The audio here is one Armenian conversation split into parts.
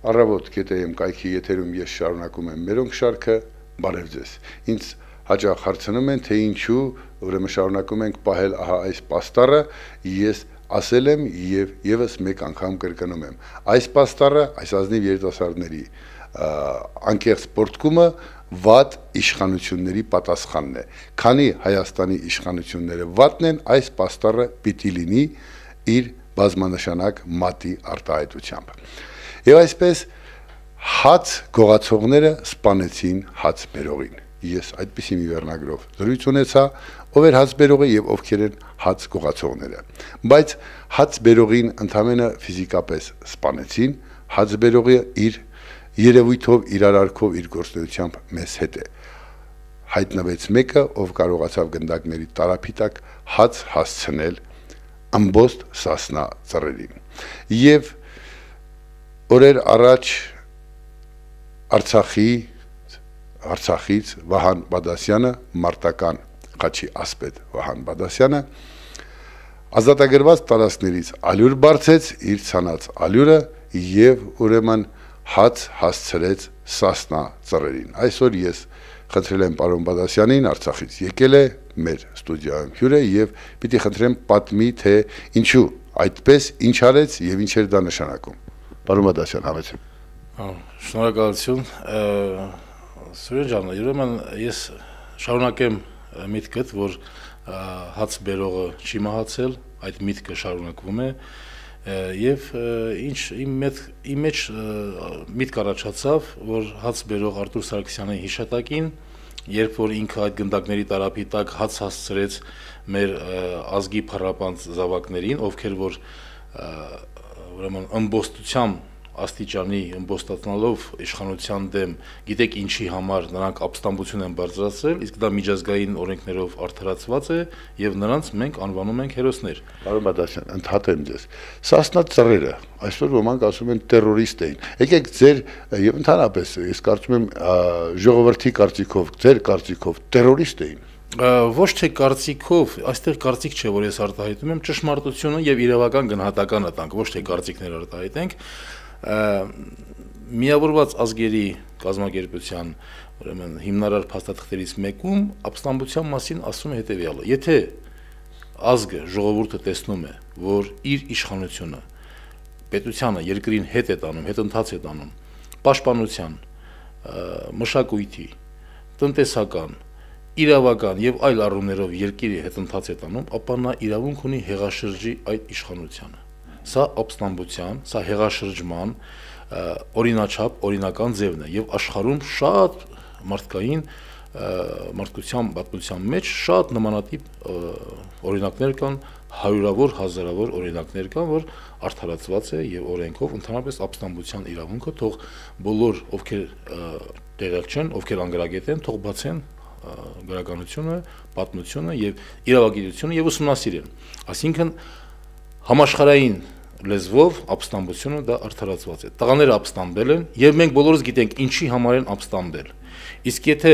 Առավոտ կետեեմ կայքի եթերում ես շարունակում եմ մերոնք շարքը, բարև ձեզ։ Ինձ հաճախ հարցնում են, թե ինչու ուրեմն շարունակում ենք պահել ահա այս պաստառը, ես ասել եմ եւ եւս մեկ անգամ կրկնում եմ։ Այս պաստառը, այս ազնիվ երիտասարդների անկեղծ սպորտկումը վատ իշխանությունների պատասխանն է։ Քանի Հայաստանի իշխանությունները վատն են, այս պաստառը պիտի լինի իր բազմանշանակ մատի արտահայտությամբ։ Եվ այսպես հաց գողացողները սպանեցին հաց բերողին։ Ես այդպիսի մի վերնագրով զրույց ունեցա, ով էր հաց բերողը եւ ովքեր են հաց գողացողները։ Բայց հաց բերողին ընդամենը ֆիզիկապես սպանեցին, հաց բերողը իր երևույթով, իր արարքով, իր գործունեությամբ մեզ հետ է։ Հայտնվեց մեկը, ով կարողացավ գնդակների տարափիտակ հաց հասցնել ամբողջ Սասնա ծռերին։ Եվ օրեր առաջ Արցախից Վահան Բադասյանը, մարտական խաչի ասպետ Վահան Բադասյանը ազատագրված տարածքներից ալյուր բարձեց, իր ցանած ալյուրը եւ ուրեմն հաց հասցրեց Սասնա ծռերին։ Այսօր ես խնդրել եմ պարոն Բադասյանին, Արցախից եկել է մեր ստուդիայում հյուր է եւ պիտի խնդրեմ պատմի, թե ինչու այդպես, ինչ արեց եւ ինչ էր դա նշանակում։ Պարոն Բադասյան, հավեցեք։ Շնորհակալություն։ Սուրեն ջան, ուրեմն ես շարունակեմ միտքդ, որ հաց բերողը չի մահացել, այդ միտքը շարունակվում է եւ իմ մեջ միտք առաջացավ, որ հաց բերող Արտուր Սարգսյանի հիշատակին, երբ որ ինքը այդ գնդակների տարափիտակ հաց հասցրեց մեր ազգի փառապանծ զավակներին, ովքեր որ ուրեմն ըմբոստությամբ աստիճանի ըմբոստացնալով իշխանության դեմ, գիտեք ինչի համար նրանք ապստամբություն են բարձրացրել, իսկ դա միջազգային օրենքներով արդարացված է եւ նրանց մենք անվանում ենք հերոսներ։ Պարոն Բադասյան, ընդհատեմ ձեզ։ Սասնա ծռերը, այսօր ոմանք ասում են տերորիստ էին։ Եկեք ձեր եւ ընդհանրապես ես կարծում եմ ժողովրդի կարծիքով, ձեր կարծիքով տերորիստ էին։ Ոչ թե կարծիքով, այստեղ կարծիք չէ, որ ես արտահայտում եմ, ճշմարտությունը եւ իրավական գնահատականը տանք, ոչ թե կարծիքներ արտահայտենք։ Միավորված ազգերի կազմակերպության ուրեմն հիմնարար փաստաթղթերից մեկում ապստամբության մասին ասում է հետեւյալը. եթե ազգը, ժողովուրդը տեսնում է, որ իր իշխանությունը պետությանը, երկրին հետ է տանում, հետընթաց է տանում, պաշտպանության, մշակույթի, տնտեսական, իրավական եւ այլ առումներով երկիրի հետընթաց է տանում, ապա նա իրավունք ունի հեղաշրջի այդ իշխանությանը։ Սա ապստամբության, սա հեղաշրջման օրինաչափ, օրինական ձևն է եւ աշխարհում շատ մարդկային մարդկության պատմության մեջ շատ նմանատիպ օրինակներ կան, հարյուրավոր, հազարավոր օրինակներ կան, որ արդարացված է եւ օրենքով ընդհանրապես ապստամբության իրավունքը թող բոլոր ովքեր տեղյակ չեն, ովքեր անգրագետ են, թող բացեն գրականությունը, պատմությունը եւ իրավագիտությունը եւ ուսումնասիրեն։ Այսինքն համաշխարհային լեզվով ապստամբությունը դա արդարացված է։ Տղաները ապստամբել են եւ մենք բոլորս գիտենք ինչի համար են ապստամբել։ Իսկ եթե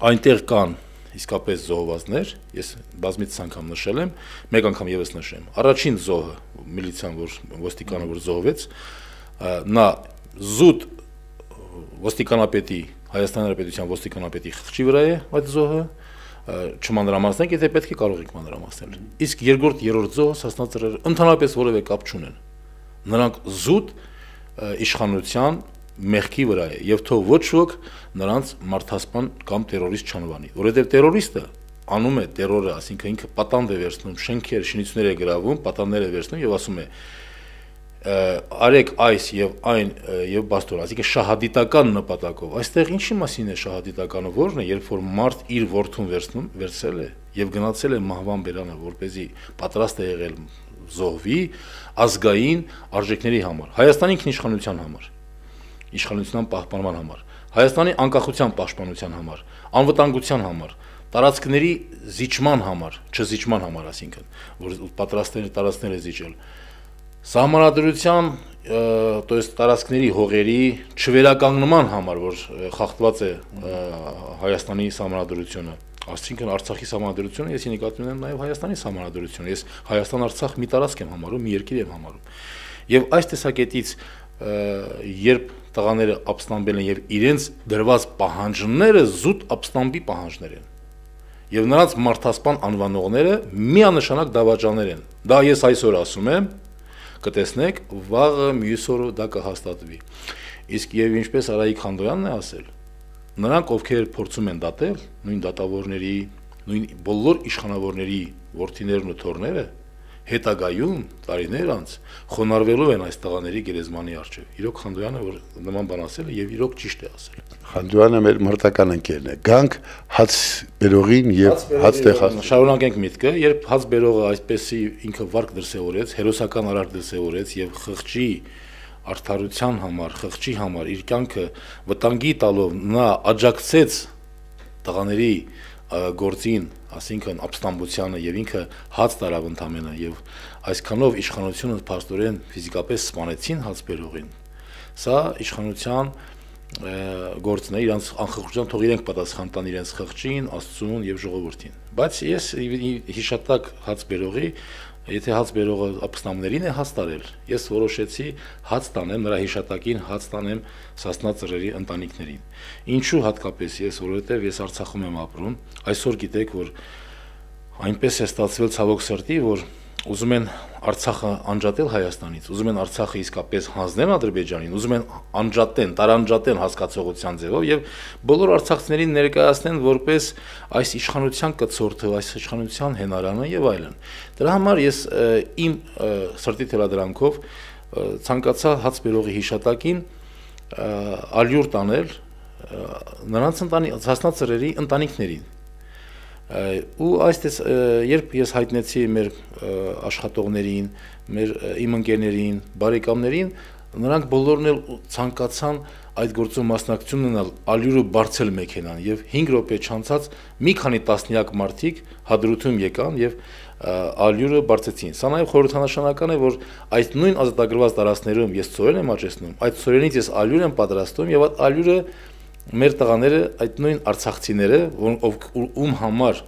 այնտեղ կան իսկապես զոհվածներ, ես բազմիցս անգամ նշել եմ, մեկ անգամ եւս նշեմ։ Առաջին զոհը, միլիցիան, որ ոստիկանը որ զոհվեց, նա զուտ ոստիկանապետի, Հայաստանի Հանրապետության ոստիկանապետի խղճի վրա է այդ զոհը, չմանրամասնենք, եթե պետք է կարող ենք մանրամասնել։ Իսկ երկրորդ, երրորդ զոհը Սասնա ծռերը ընդհանրապես որևէ կապ չունեն։ Նրանք զուտ իշխանության մեղքի վրա է եւ թող ոչ ոք նրանց մարդասպան կամ տերորիստ չանվանի, որովհետեւ տերորիստը անում է տերորը, ասինքն ինքը պատանդ է վերցնում, շենքեր, շինություններ է գրավում, պատաններ է վերցնում եւ ասում է արեք այս եւ այն եւ բաստոր, ասիկա շահադիտական նպատակով։ Այստեղ ինչի մասին է շահադիտականը, որն է, երբ որ մարդ իր որդուն վերցրել է եւ գնացել է մահվան բերանը, որպեսզի պատրաստ է եղել զոհվի ազգային արժեքների համար, Հայաստանի ինքնիշխանության համար, իշխանության պահպանման համար, Հայաստանի անկախության պաշտպանության համար, անվտանգության համար, տարածքների զիջման համար, չզիջման համար, ասինքն, որ պատրաստ է տարածքները զիջել, սահմանադրության, то есть տարածքների հողերի չվերականգնման համար, որ խախտված է Հայաստանի սահմանադրությունը, այսինքն Արցախի սահմանադրությունը, ես նկատի ունեմ նաև Հայաստանի սահմանադրությունը, ես Հայաստան-Արցախ մի տարածք եմ համարում, մի երկիր եմ համարում։ Եվ այս տեսակետից երբ տղաները ապստամբել են եւ իրենց դրված պահանջները զուտ ապստամբի պահանջներ են։ Եվ նրանց մարդասպան անվանողները միանշանակ դավաճաններ են։ Դա ես այսօր ասում եմ, կտեսնեք, վաղը մյուս օրը դա կհաստատվի։ Իսկ եւ ինչպես Արայիկ Խանդոյանն է ասել, նրանք ովքեր փորձում են դատել, նույն դատավորների, նույն բոլոր իշխանավորների որդիներն ու թոռները հետագայում տարիներ անց խոնարհվելու են այս տղաների գերեզմանի առջև։ Իրոք Խանդոյանը որ նման բան ասել է եւ իրոք ճիշտ է ասել։ Խանդոյանը մեր մրտական ընկերն է։ Գանք հաց բերողին եւ հաց տեղած։ Շարունակենք միտքը, երբ հաց բերողը այսպեսի ինքը վարկ դրսեւորեց, հերոսական արարք դրսեւորեց եւ խղճի արդարության համար, խղճի համար իր կյանքը վտանգի տալով նա աջակցեց տղաների գործին, ասինքն ապստամբությանը եւ ինքը հաց տարավ ընդամենը եւ այսքանով իշխանությունը փաստորեն ֆիզիկապես սպանեցին հաց բերողին։ Սա իշխանության գործն է, իրանց անխղճության թող իրենք պատասխան տան իրենց խղճին, Աստծուն եւ ժողովրդին։ Բայց ես հիշատակ հաց բերողի, եթե հաց բերողը ապստամբներին է հաց տարել, ես որոշեցի հաց տանեմ նրա հիշատակին, հաց տանեմ Սասնա ծռերի ընտանիքներին։ Ինչու հատկապես ես, որովհետեւ ես Արցախում եմ ապրում, այսօր գիտեք, որ այնպես է ստացվել ցավոք սրտի, որ ուզում են Արցախը անջատել Հայաստանից, ուզում են Արցախը իսկապես հանձնել Ադրբեջանին, ուզում են անջատեն, տարանջատեն հասկացողության ձևով եւ բոլոր արցախցիներին ներկայացնեն որպես այս իշխանության կցորդը, այս իշխանության հենարանը եւ այլն։ Դրա համար ես իմ սրտի թելադրանքով ցանկացա հաց բերողի հիշատակին ալյուր տանել նրանց Սասնա ծռերի ընտանիքներին։ Ու այսպես երբ ես հայտնեցի մեր աշխատողներին, իմ ընկերներին, բարեկամներին, նրանք բոլորն էլ ցանկացան այդ գործում մասնակցություն ունենալ, ալյուրը բարձել մեքենան եւ 5 րոպե չանցած մի քանի տասնյակ մարդիկ հադրութում եկան եւ ալյուրը բարձեցին։ Սա նաեւ խորհրդանշական է, որ այդ նույն ազատագրված տարածքներում ես ծորեն եմ աճեցնում, այդ ծորենից ես ալյուր եմ պատրաստում եւ այդ ալյուրը մեր տղաները, այդ նույն արցախցիները, ում համար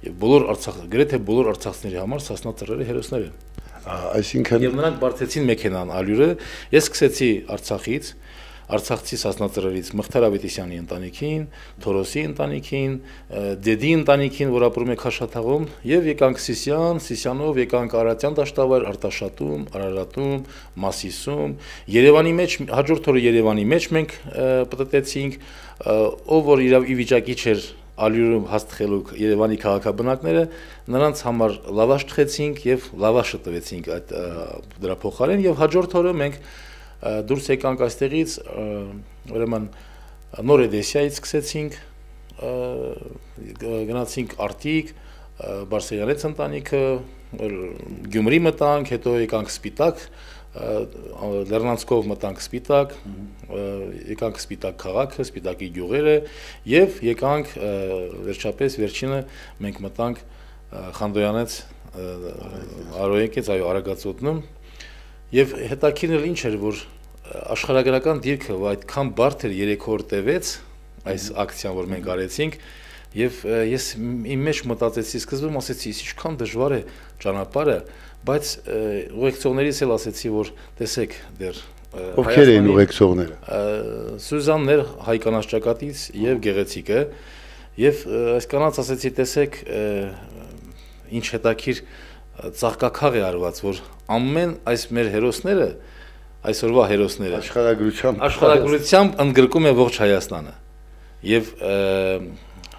եւ բոլոր գրեթե բոլոր արցախցիների համար Սասնա ծռերը հերոսներ են։ Այսինքն եւ նրանք բարձեցին մեքենան ալյուրը, ես սկսեցի Արցախից, Արցախցի Սասնա ծռերից Մղթար Ավետիսյանի ընտանիքին, Թորոսի ընտանիքին, Դեդի ընտանիքին, որ ապրում է Քաշաթաղում, եւ եկանք Սիսյան, Սիսյանով եկանք Արարատյան դաշտավայր, Արտաշատում, Արարատում, Մասիսում, Երևանի մեջ հաջորդ օրը Երևանի մեջ մենք պտտեցինք, ով որ իրավ ի վիճակի չէր ալյուրում հաստխելու Երևանի քաղաքաբնակները, նրանց համար լավաշ թխեցինք եւ լավաշը տվեցինք այդ դրա փոխարեն եւ հաջորդ օրը մենք դուրս եկանք այստեղից, ուրեմն նոր Էդեսիայից սկսեցինք, գնացինք Արտիկ, Բարսեղյանից ընտանիքը, Գյումրի մտանք, հետո եկանք Սպիտակ, Լեռնանցքով մտանք Սպիտակ, եկանք Սպիտակ քաղաքը, Սպիտակի գյուղերը եւ եկանք վերջապես վերջինը մենք մտանք Խանդոյանից Արոյեկից, այո, Արագածոտնում եւ հետաքրքիրն ինչ էր, որ աշխարհագրական դիրքը այդքան բարդ էր 3 օր տևեց այս ակցիան, որ մենք արեցինք եւ ես իմ մեջ մտածեցի, սկզբում ասեցի, ինչքան դժվար է ճանապարհը, բայց ուղեկցողներից էլ ասեցի, որ տեսեք դեռ ովքեր էին ուղեկցողները։ Սյուզաններ հայ կանանց ճակատից եւ Գեղեցիկը եւ այս կանանց ասեցի, տեսեք ինչ հետաքրիր ծաղկակաղ է արված, որ ամեն այս մեր հերոսները, այսօրվա հերոսները աշխարհագրությամբ ընդգրկում է ողջ Հայաստանը։ Եվ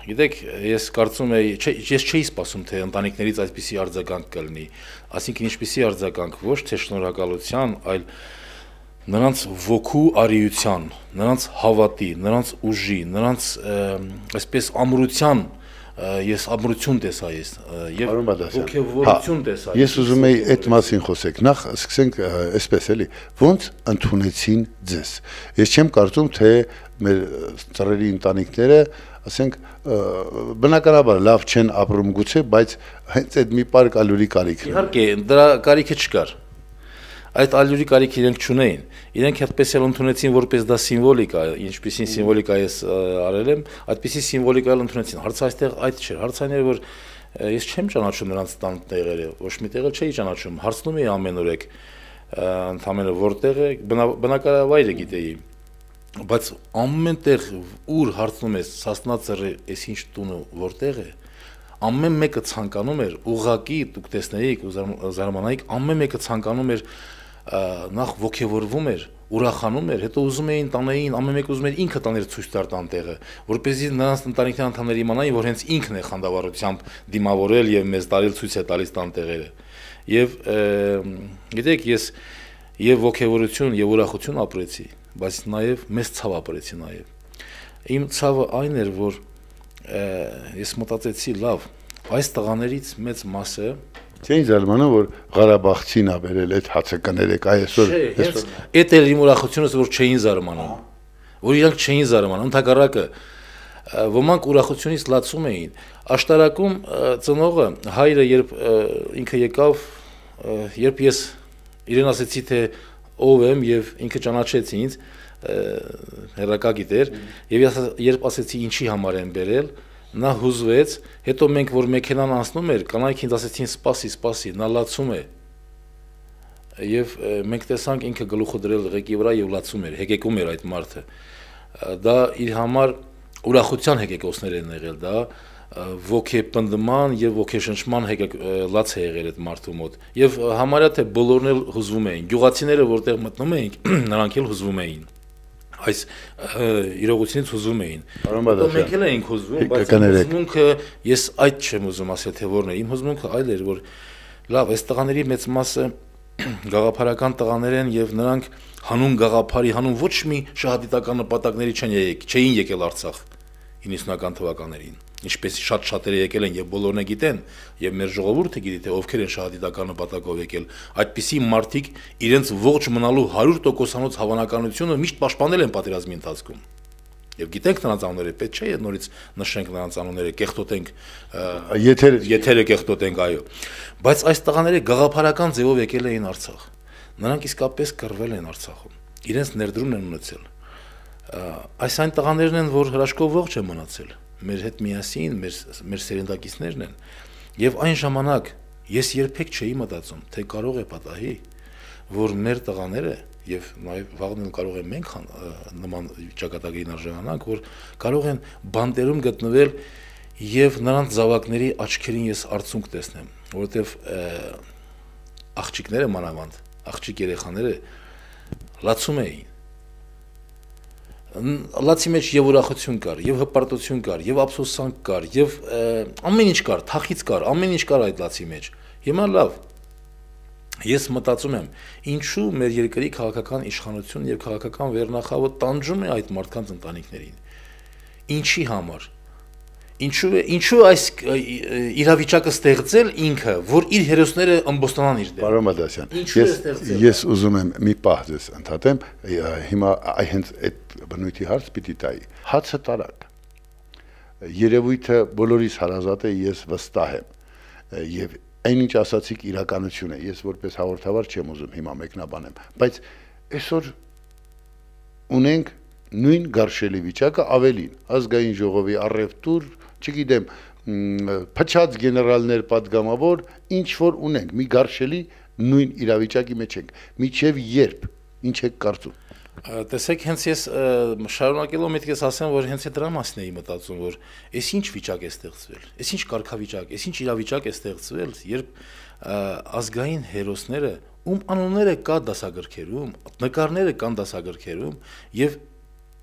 գիտեք, ես կարծում եմ, ես չէի սպասում, թե ընտանիքներից այսպիսի արձագանք կլինի, այսինքն ինչպիսի արձագանք, ոչ թե շնորհակալության, այլ նրանց ոգու արիության, նրանց հավատի, նրանց ուժի, նրանց այսպես ամրության, ես ամրություն տեսա ես եւ ոգևորություն տեսա։ Ես ուզում եի այդ մասին խոսեք։ Նախ սկսենք այսպես էլի, ոնց ընդունեցին ձեզ։ Ես չեմ կարծում, թե մեր ծռերի ընտանիքները, ասենք, բնականաբար լավ չեն ապրում գուցե, բայց հենց այդ մի պարկ ալյուրի կարիքն է։ Իհարկե, դրա կարիքը չկար։ Այդ ալյուրի կարիք իրենք չունեին։ Իրենք այդպես էլ ընդունեցին, որպես դա սիմվոլիկա, ինչպիսին սիմվոլիկա ես արել եմ, այդպիսի սիմվոլիկա էլ ընդունեցին։ Հարցը այստեղ այդ չէր։ Հարցը այն էր, որ ես չեմ ճանաչում նրանց տան տեղերը, ոչ մի տեղ չէի ճանաչում։ Հարցնում էի ամենուրեք, ընդամենը որտեղ է, բնակավայրը գիտեի, բայց ամեն տեղ ուր հարցնում ես Սասնա-Ծռի այսինչ տունը որտեղ է, ամեն մեկը ցանկանում էր ուղղակի դուք տեսնեիք ու զարմանայիք, ամեն մեկը ցանկանում էր նախ ոգևորվում էր, ուրախանում էր, հետո ուզում էին տանեին, ամեն մեկը ուզում էր ինքը տաներ ցույց տար տանտեղը, որպեսզի նրանց ընտանիքի անդամները իմանային, որ հենց ինքն է խանդավառությամբ դիմավորել եւ մեզ տարել ցույց է տալիս տանտեղերը։ Եվ գիտեք, ես եւ ոգևորություն եւ ուրախություն ապրեցի, բայց նաեւ մեծ ցավ ապրեցի նաեւ։ Իմ ցավը այն էր, որ ես մտածեցի, լավ, այս տղաներից մեծ մասը Չէին զարմանում, որ Ղարաբաղցին ա բերել այդ հացը կներեք, այսօր Էդ էր իմ ուրախությունս, որ չէին զարմանում, որ իրանք չէին զարմանում, ընդհակառակը ոմանք ուրախությունից լացում էին։ Աշտարակում ծնողը հայրը երբ ինքը եկավ, երբ ես իրեն ասեցի, թե ով եմ եւ ինքը ճանաչեց ինձ, հերակա գիտեր, եւ երբ ասեցի ինչի համար եմ բերել, նա հուզվեց, հետո մենք որ մեքենան անցնում էր, կանայք ինձ ասեցին սպասի, նա լացում է։ Եվ մենք տեսանք ինքը գլուխը դրել ղեկի վրա եւ լացում էր, հեկեկում էր այդ մարդը։ Դա իր համար ուրախության հեկեկոսներ են եղել, դա ոգեպնդման եւ ոգեշնչման լաց է եղել այդ մարդու մոտ։ Եվ համարյա թե բոլորն էլ հուզվում էին։ Գյուղացիները որտեղ մտնում էին, նրանք էլ հուզվում էին։ Այս իրողությունից հուզվում էին։ Մենք էլ էինք հուզվում, բայց հուզմունքը ես այդ չեմ ուզում ասել, թե որն է։ Իմ հուզմունքը այլ էր, որ լավ, այս տղաների մեծ մասը գաղափարական տղաներ են եւ նրանք հանուն գաղափարի, հանուն ոչ մի շահադիտական նպատակների չէին եկել Արցախ 90-ական թվականներին։ Ինչպես շատ-շատերը եկել են եւ բոլորն է գիտեն, եւ մեր ժողովուրդը գիտի, թե ովքեր են շահադիտական նպատակով եկել, այդպիսի մարդիկ իրենց ողջ մնալու 100%-անոց հավանականությունը միշտ պաշտպանել են պատերազմի ընթացքում։ Եվ գիտենք նրանց անունները, պետք չէ նորից նշենք նրանց անունները, կեղտոտենք, եթերը կեղտոտենք, այո։ Բայց այս տղաները գաղափարական ձևով եկել էին Արցախ։ Նրանք իսկապես կռվել են Արցախում։ Իրենց ներդրումն են ունեցել։ Այս այն տղաներն են, որ հրաշքով ողջ են մնացել։ Մեր հետ միասին, մեր սերնդակիցներն են։ Եւ այն ժամանակ ես երբեք չէի մտածում, թե կարող է պատահի, որ մեր տղաները եւ նաեւ վաղն կարող են մենք նման ճակատագրին արժանանանք, որ կարող են բանտերում գտնվել եւ նրանց զավակների աչքերին ես արցունք տեսնեմ, որովհետեւ աղջիկները մանավանդ, աղջիկ երեխաները լացում էին։ Լացի մեջ եւ ուրախություն կար, եւ հպարտություն կար, եւ ափսոսանք կար, եւ ամեն ինչ կար, թախից կար, ամեն ինչ կար այդ լացի մեջ։ Հիմա լավ, ես մտածում եմ, ինչու մեր երկրի քաղաքական իշխանությունն եւ քաղաքական վերնախավը տանջում է այդ մարդկանց ընտանիքներին։ Ինչի համար։ Ինչու այս իրավիճակը ստեղծել ինքը, որ իր հերոսները ըմբոստանան իր դեմ։ Պարոն Մադասյան, ես ուզում եմ մի պահ ձեզ ընդհատեմ, հիմա հենց այդ բնույթի հարց պիտի տայի։ Հացը տարակ։ Երևույթը բոլորիս հարազատ է, ես վստահ եմ։ Եվ այնինչ ասացիք իրականություն է։ Ես որպես հաղորդավար չեմ ուզում հիմա մեկնաբանեմ, բայց այսօր ունենք նույն գարշելի վիճակը ավելին, ազգային ժողովի առևտուր, չգիտեմ, փչած գեներալներ падգամավոր, ինչ որ ունենք, մի գարշելի նույն իրավիճակի մեջ ենք, միջև երբ, ինչ եք կարծում։ Տեսեք, հենց ես շարունակելով միտքս ասեմ, որ հենց դրա մասին էի մտածում, որ այս ինչ վիճակ է ստեղծվել, այս ինչ կարգավիճակ, այս ինչ իրավիճակ է ստեղծվել, երբ ազգային հերոսները, ում անունները կա դասագրքերում, նկարները կան դասագրքերում, եւ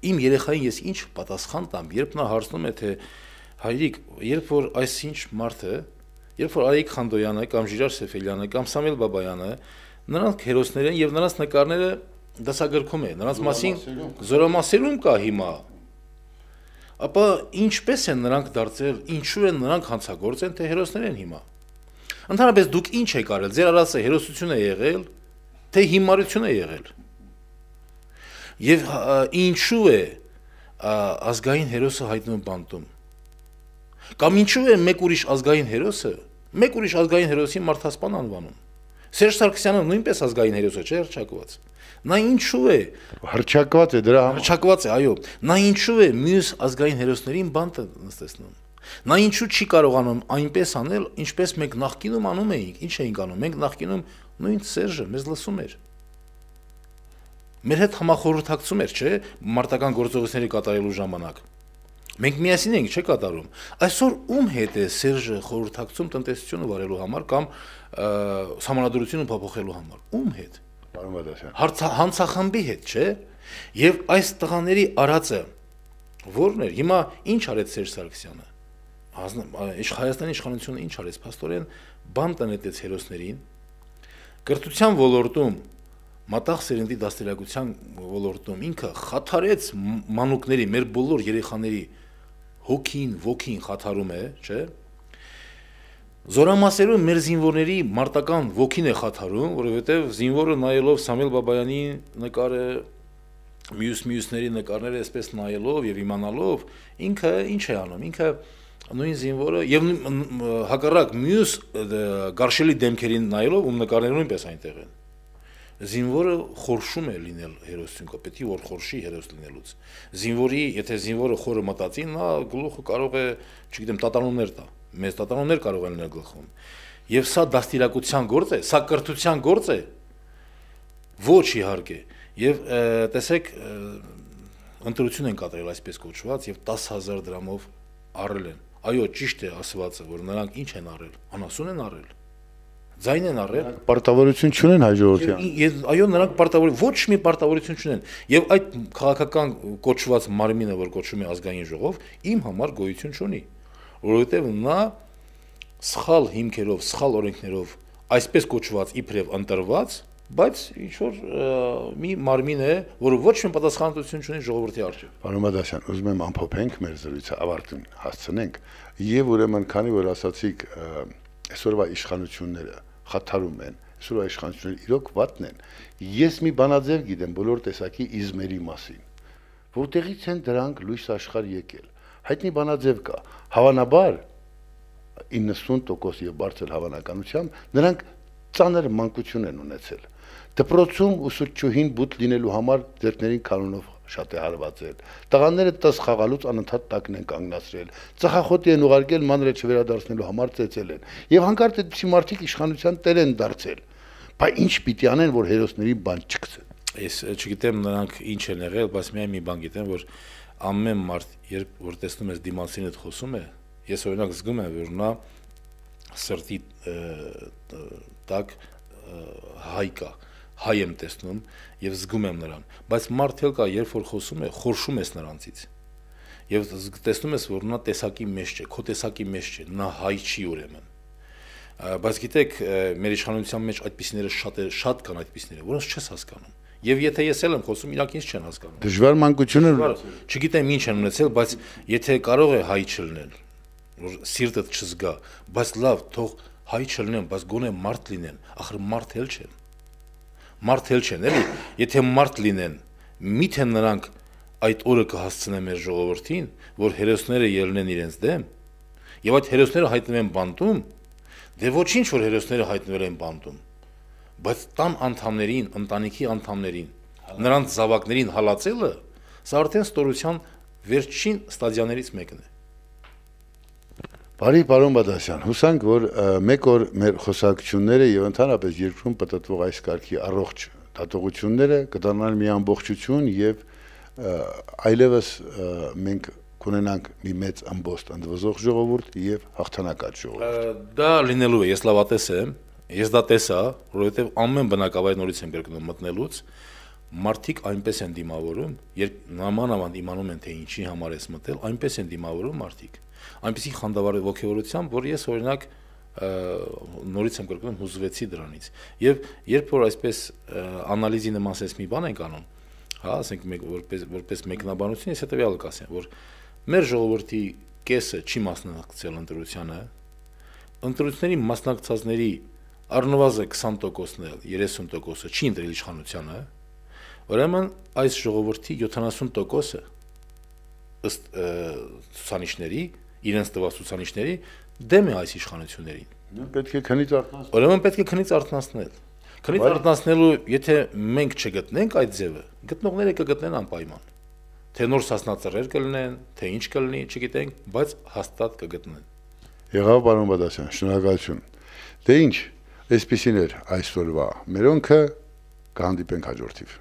իմ երեխային ես ինչ պատասխան տամ, երբ նա հարցնում է, թե հայրիկ, երբ որ այսինչ մարդը, երբ որ Արայիկ Խանդոյանը կամ Ժիրար Սեֆելյանը կամ Սամվել Բաբայանը, նրանք հերոսներ են եւ նրանց նկարները դասագրքում է, նրանց մասին զորամասերում կա հիմա։ Ապա ինչպես են նրանք դարձել, ինչու են նրանք հանցագործ են, թե հերոսներ են հիմա։ Ընդհանրապես դուք ինչ եք արել, ձեր արածը հերոսություն է եղել, թե հիմարություն է եղել։ Եվ ինչու է ազգային հերոսը հայտնվում բանտում։ Կամ ինչու է մեկ ուրիշ ազգային հերոսը, մեկ ուրիշ ազգային հերոսի մարդասպան անվանում։ Սերժ Սարգսյանը նույնպես ազգային հերոս է, չէ՞ հռչակված։ Նա ինչու է հռչակված է դրա համար։ Հռչակված է, այո։ Նա ինչու է մյուս ազգային հերոսներին բանտը նստեցնում։ Նա ինչու չի կարողանում այնպես անել, ինչպես մենք նախկինում անում էինք։ Ինչ էինք անում։ Մենք նախկինում նույն Սերժը մեզ լսում էր։ մեր հետ համախորհրդակցում էր, չէ, մարտական գործողությունների կատարելու ժամանակ։ Մենք միասին ենք չէ կատարում։ Այսօր ում հետ է Սերժը խորհրդակցում տնտեսությունը վարելու համար կամ համանդրությունը փոփոխելու համար։ Ում հետ։ Պարոն Բադասյան։ Հանցախմբի հետ, չէ։ Եվ այս տղաների արածը որն էր։ Հիմա ինչ արեց Սերժ Սարգսյանը։ Հայաստանի իշխանությունը ինչ արեց, փաստորեն բան տնետեց հերոսներին։ Կրթության ոլորտում, մատաղ սերնդի դաստիարակության ոլորտում ինքը խաթարեց մանուկների, մեր բոլոր երեխաների հոգին, ոգին խաթարում է, չէ։ Զորամասերում մեր զինվորների մարտական ոգին է խաթարում, որովհետև զինվորը նայելով Սամվել Բաբայանի նկարը, մյուսների նկարները այսպես նայելով եւ իմանալով, ինքը ինչ է անում, ինքը նույն զինվորը եւ հակառակ մյուս գարշելի դեմքերին նայելով ում նկարները նույնպես այնտեղ են։ Զինվորը խորշում է լինել հերոսություն, պետք է որ խորշի հերոս լինելուց։ Զինվորի, եթե զինվորը խորը մտածի, նա գլուխը կարող է, չգիտեմ, տատանումներ տա։ Մեծ տատանումներ կարող են լինել գլխում։ Եվ սա դաստիարակության գործ է, սա կրթության գործ է։ Ոչ իհարկե։ Եվ տեսեք, ընտրություն են կատարել այսպես կոչված եւ 10000 դրամով առել են։ Այո, ճիշտ է ասվածը, որ նրանք ինչ են առել, անասուն են առել, ձայն են առել, պարտավորություն չունեն հայ ժողովրդի։ Այո, նրանք ոչ մի պարտավորություն չունեն, եւ այդ քաղաքական կոչված մարմինը, որ կոչվում է ազգային ժողով, իմ համար գոյություն չունի, որովհետեւ նա սխալ հիմքերով, սխալ օրենքներով, այսպես կոչված իբրև ընտրված, բայց ինչ որ մի մարմին է, որը ոչ մի պատասխանատվություն չունի ժողովրդի առջև։ Պարոն Բադասյան, ուզում եմ ամփոփենք մեր զրույցը, ավարտին հասցնենք, եւ ուրեմն քանի որ ասացիք այսօրվա իշխանությունները խաթարում են, այսօրվա իշխանությունները իրոք վատն են, ես մի բանաձև գիտեմ բոլոր տեսակի իզմերի մասին, որտեղից են դրանք լույս աշխարհ եկել։ Հայտնի բանաձև կա, հավանաբար 90% եւ բարձր հավանականությամբ նրանք ծանր մանկություն են ունեցել։ Դպրոցում ուսուցչուհին բութ լինելու համար ձեռքներին կանոնով շատ է հարվածել։ Տղաները տս խաղալուց անընդհատ տակն են կանգնացրել։ Ծխախոտի են ուղարկել մանրը չվերադարձնելու համար ծեծել են։ Եվ հանկարծ այդպիսի մարդիկ իշխանության տեր են դարձել։ Բայց ինչ պիտի անեն, որ հերոսների բան չգցեն։ Ես չգիտեմ նրանք ինչ են եղել, բայց միայն մի բան գիտեմ, որ ամեն մարդ, երբ որ տեսնում ես դիմացին հետ խոսում է, ես օրինակ զգում եմ, որ նա սրտի տակ հայ կա, հայ եմ տեսնում եւ զգում եմ նրան, բայց մարդ էլ կա, երբ որ խոսում է, խորշում ես նրանցից եւ տեսնում ես, որ նա տեսակի մեջ չէ, քո տեսակի մեջ չէ, նա հայ չի ուրեմն։ Բայց գիտեք, մեր իշխանության մեջ այդպիսիները շատ կան այդպիսիները, որոնց չես հասկանում։ Եվ եթե ես էլ եմ խոսում, իրանք ինձ չեն հասկանում։ Դժվար մանկությունը չգիտեմ ինչ են ունեցել, բայց եթե կարող է հայ չլինել, որ սիրտդ չզգա, բայց լավ, թող հայ չլինեն, բայց գոնե մարդ լինեն, ախր մարդ էլ չեն։ Մարդ էլ չեն, էլի, եթե մարդ լինեն, միթե նրանք այդ օրը կհասցնեն մեր ժողովրդին, որ հերոսները ելնեն իրենց դեմ, եւ այդ հերոսները հայտնվեն բանտում, դե ոչինչ որ հերոսները հայտնվել են բանտում, բայց տան անդամներին, ընտանիքի անդամներին, նրանց զավակներին հալածելը, սա արդեն ստորության վերջին ստադիաներից մեկն է։ Բարի պարոն Բադասյան, հուսանք, որ մեկ օր մեր խոսակցությունները եւ ընդհանրապես երկրում պատտվող այս կարգի առողջ դատողությունները կդառնան մի ամբողջություն եւ այլևս մենք կունենանք մի մեծ ամբողջ ընդվզող ժողովուրդ եւ հաղթանակած ժողովուրդ։ Դա լինելու է, ես լավատես եմ, ես դա տեսա, որովհետեւ ամեն բնակավայր նորից եմ կրկնում մտնելուց, մարդիկ այնպես են դիմավորում, երբ նամանավանդ իմանում են թե ինչի համար ես մտել, այնպես են դիմավորում մարդիկ։ Այնպեսի խանդավառ ոգևորությամբ, որ ես օրինակ նորից եմ կրկնում հուզվեցի դրանից։ Եվ երբ որ այսպես անալիզի նման ասես մի բան ենք անում, հա, ասենք որպես մեկնաբանություն, ես հետեւյալը կասեմ, որ մեր ժողովրդի կեսը չի մասնակցել ընտրությանը, ընտրությունների մասնակցածների առնվազն 20%-ն էլ 30%-ը չի ընտրել իշխանությանը, ուրեմն այս ժողովրդի 70%-ը ըստ ցուցանիշների, իրենց տված ցուցանիշների դեմ է այս իշխանություններին։ Պետք է քնից արթնացնել։ Ուրեմն պետք է քնից արթնացնել։ Քնից արթնացնելու, եթե մենք չգտնենք այդ ձևը, գտնողները կգտնեն անպայման։ Թե նոր սասնածռեր կլինեն, թե ինչ կլինի, չգիտենք, բայց հաստատ կգտնեն։ Եղավ պարոն Բադասյան, շնորհակալություն։ Դե ինչ, այսպեսին էր այսօրվա մերոնքը, կհանդիպենք հաջորդիվ։